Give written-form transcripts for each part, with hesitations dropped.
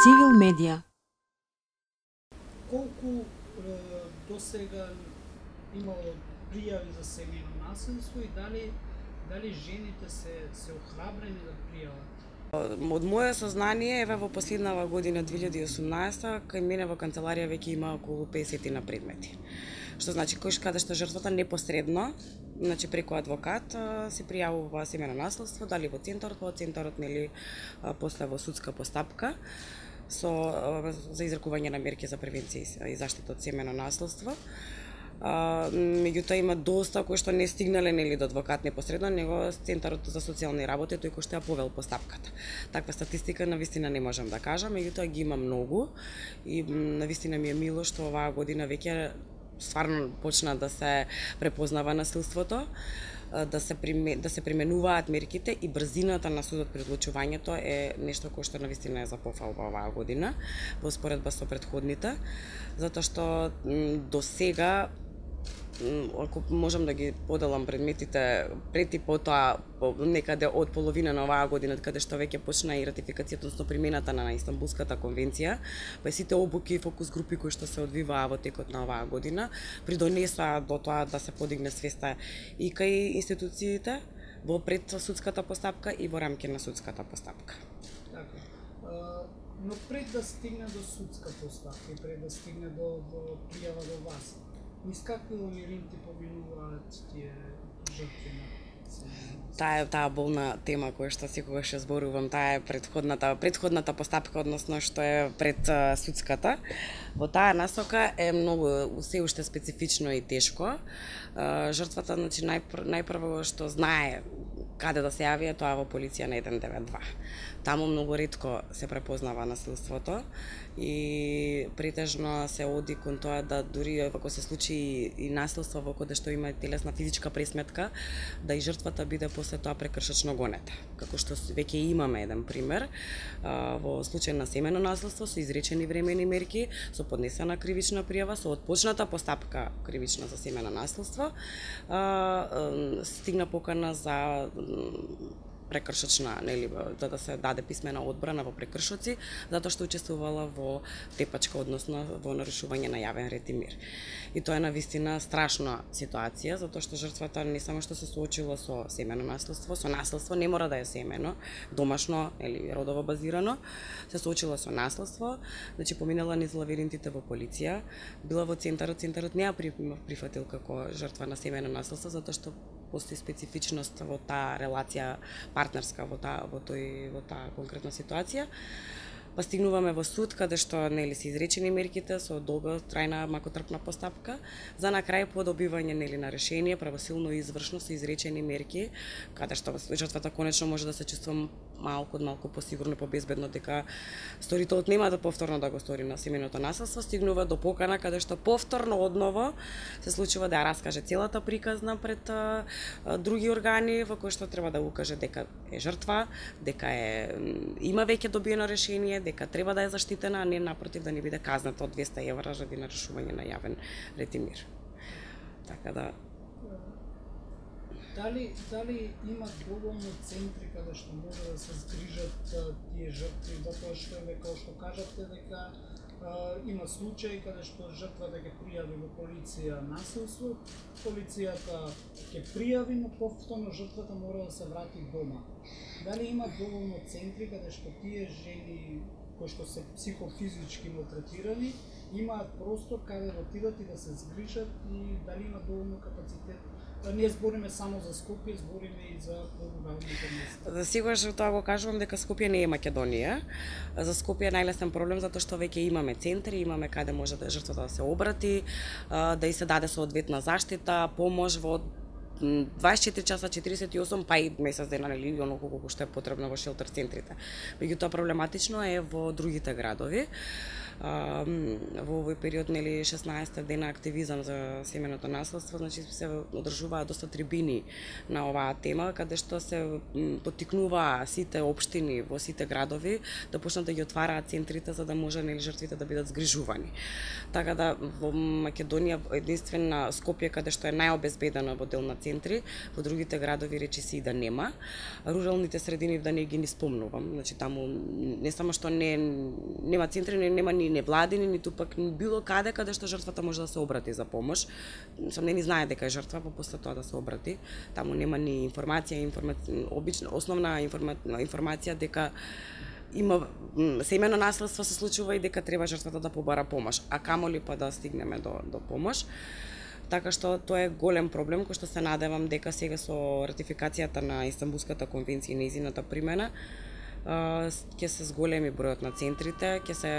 Цивил медија. Колку до сега имало пријави за семејно насилство и дали жените се охрабрени да пријават? Од моје сознание, еве во последнава година 2018, кај мене во канцеларија веќе има околу 50 на предмети. Што значи каде што жртвата непосредно, значи преку адвокат се пријавува семејно насилство, дали во центарот нели после во судска постапка за изрекување на мерки за превенција и заштита од семејно насилство. Меѓутоа има доста кои што не стигнале нели до адвокат непосредно, него Центарот за социјални работи тој кој што ја повел постапката. Таква статистика навистина не можам да кажам, меѓутоа ги има многу и навистина ми е мило што оваа година веќе стварно почна да се препознава насилството, да се применуваат мерките и брзината на судот при одлучувањето е нешто кое што навистина е за пофалба оваа година во споредба со претходните, затоа што до сега, ако можам да ги поделам предметите пред и потоа некаде од половина на оваа година, каде што веќе почна и ратификацијата, односно примената на Истанбулската конвенција, па сите обуки и фокус групи кои што се одвиваа во текот на оваа година, придонесаа до тоа да се подигне свеста и кај институциите во предсудската постапка и во рамки на судската постапка. Така. Но пред да стигне до судска постапка и пред да стигне до пријава до вас, низ какви лабиринти поминуваат тие жртви на Таа болна тема која што секогаш ја зборувам, таа е претходната постапка, односно што е пред судската. Во таа насока е многу се уште специфично и тешко. Жртвата, значи најпрво што знае каде да се јави е тоа во полиција на 192. Таму многу ретко се препознава насилството и претежно се оди кон тоа да дури ако се случи и насилство во каде што има телесна физичка пресметка, да и жртвата биде после тоа прекршачно гонета. Како што веќе имаме еден пример во случај на семејно насилство со изречени времени мерки, со поднесена кривична пријава, со отпочната постапка кривична за семејно насилство, стигна покана за прекршачна, нели, за да се даде писмена одбрана во прекршоци, затоа што учествувала во тепачка, односно во нарушување на јавен ред и мир. И тоа е навистина страшна ситуација, затоа што жртвата не само што се соочила со семејно насилство, со насилство не мора да е семејно, домашно или родово базирано, се соочила со насилство, значи поминала низ лавиринтите во полиција, била во центарот не ја прифатил како жртва на семејно насилство, затоа што постои специфичност во таа релација партнерска во таа конкретна ситуација. Па стигнуваме во суд каде што нели се изречени мерките со долга трајна макотрпна постапка, за на крај по добивање нели на решение правосилно и извршно со изречени мерки, каде што жртвата конечно може да се чувствува малку посигурно, побезбедно дека сторителот нема да повторно да го стори на семејното насилство, стигнува до покана каде што повторно одново се случува да ја раскаже целата приказна пред други органи во кои што треба да укаже дека е жртва, дека има веќе добиено решение, дека треба да е заштитена, а не напротив да не биде казната од 200 евра заради нарушување на јавен ред и мир. Така да Дали има доволно центри каде што може да се згрижат тие жртви, затоа што како што кажате дека има случаи каде што жртвата ќе пријави во полиција насилство, полицијата ќе пријави, но повторно жртвата мора да се врати дома. Дали има доволно центри каде што тие жени кои што се психофизички малтретирани имаат простор каде да отидат и да се згрижат и дали има доволно капацитет? Не збориме само за Скопје, збориме и за руралните места. За сигурно тоа го кажувам дека Скопје не е Македонија. За Скопје е најлесен проблем затоа што веќе имаме центри, имаме каде може да жртвата да се обрати, да и се даде соодветна заштита, помош во 24 часа 48 па и месец дена, нели, оноко колку што е потребно во шелтер центрите. Меѓутоа проблематично е во другите градови. во овој период, нели 16 дена активизам за семеното наследство, значи се одржуваат доста трибини на оваа тема, каде што се поттикнуваа сите општини во сите градови да почнат да ги отвараат центрите за да може нели жртвите да бидат згрижувани. Така да во Македонија единствено Скопје каде што е најобезбедено во дел на центри, во другите градови речиси и да нема. Руралните средини да не ги ни спомнувам, значи таму не само што нема центри, нема ни невладини, ниту пак било каде што жртвата може да се обрати за помош. Не ни знае дека е жртва, па после тоа да се обрати. Таму нема ни информација, основна информација дека има семено наследство се случува и дека треба жртвата да побара помош, а камоли па да стигнеме до помош. Така што тоа е голем проблем кој што се надевам дека сега со ратификацијата на Истанбулската конвенција и нејзината примена ќе се зголеми бројот на центрите, ќе се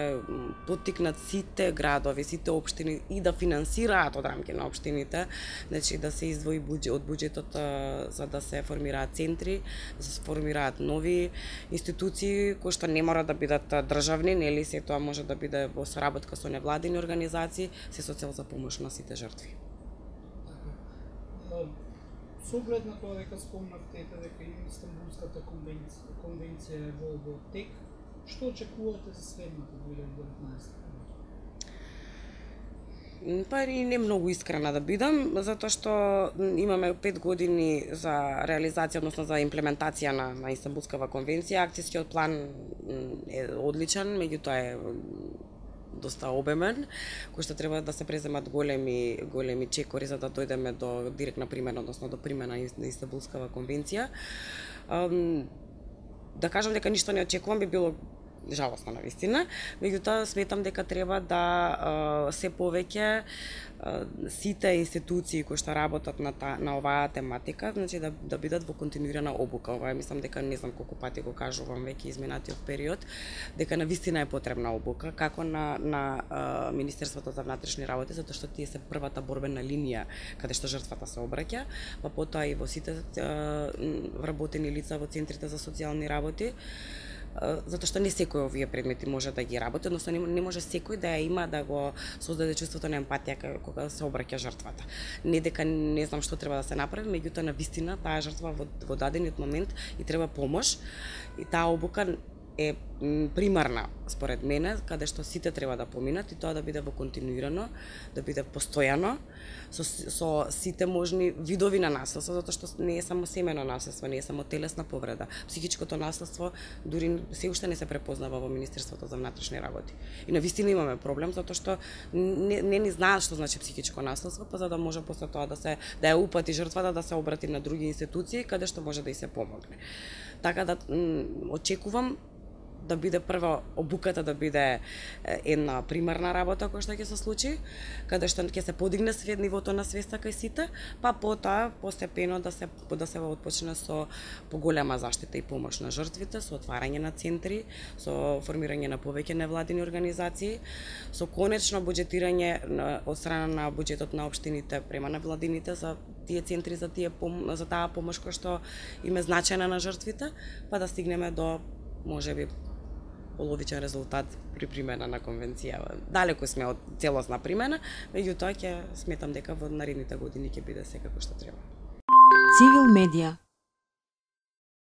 поттикнат сите градови, сите општини и да финансираат од рамки на општините, значи да се издвои од буџетот за да се формираат центри, да се формираат нови институции кои што не мора да бидат државни, нели се тоа може да биде во соработка со невладини организации, се со цел за помош на сите жртви. Со оглед на тоа дека спомнавте дека и Истанбулската конвенција е во тек, што очекувате за следната 2019? Па и не многу искрена да бидам, затоа што имаме 5 години за реализација, односно за имплементација на Истанбулската конвенција. Акцијскиот план е одличен, меѓутоа е доста обемен, кој што треба да се преземат големи чекори за да дојдеме до директна примена, односно до примена на Истанбулската конвенција. Да кажам дека ништо не очекувам би било жалосно на вистина, меѓутоа сметам дека треба да се повеќе сите институции кои што работат на оваа тематика, значи да бидат во континуирана обука. Ова мислам дека не знам колку пати го кажувам веќе изминатиот период, дека на вистина е потребна обука како на Министерството за внатрешни работи, затоа што тие се првата борбена линија каде што жртвата се обраќа, па потоа и во сите вработени лица во центрите за социјални работи. Затоа што не секој овие предмети може да ги работи, односно не може секој да ја има да го создаде чувството на емпатија кога се обраќа жртвата. Не дека не знам што треба да се направи, меѓутоа на вистина таа жртва во дадениот момент и треба помош и таа обука е примарна според мене, каде што сите треба да поминат и тоа да биде во континуирано, да биде постојано со сите можни видови на наследство, затоа што не е само семено наследство, не е само телесна повреда. Психичкото наследство дури се уште не се препознава во Министерството за внатрешни работи. И навистина имаме проблем затоа што не ни знаат што значи психичко наследство, па за да може после тоа да ја упати жртвата да се обрати на други институции каде што може да и се помогне. Така да очекувам да биде прво обуката да биде една примарна работа која што ќе се случи, каде што ќе се подигне нивото на свеста кај сите, па потоа постепено да се отпочне со поголема заштита и помош на жртвите, со отварање на центри, со формирање на повеќе невладини организации, со конечно буџетирање од страна на буџетот на општините према невладините за тие центри, за таа помош која што им е значајна на жртвите, па да стигнеме до можеби половичен резултат при примена на конвенција. Далеку сме од целосна примена, меѓутоа ќе сметам дека во наредните години ќе биде секако што треба. Цивил медија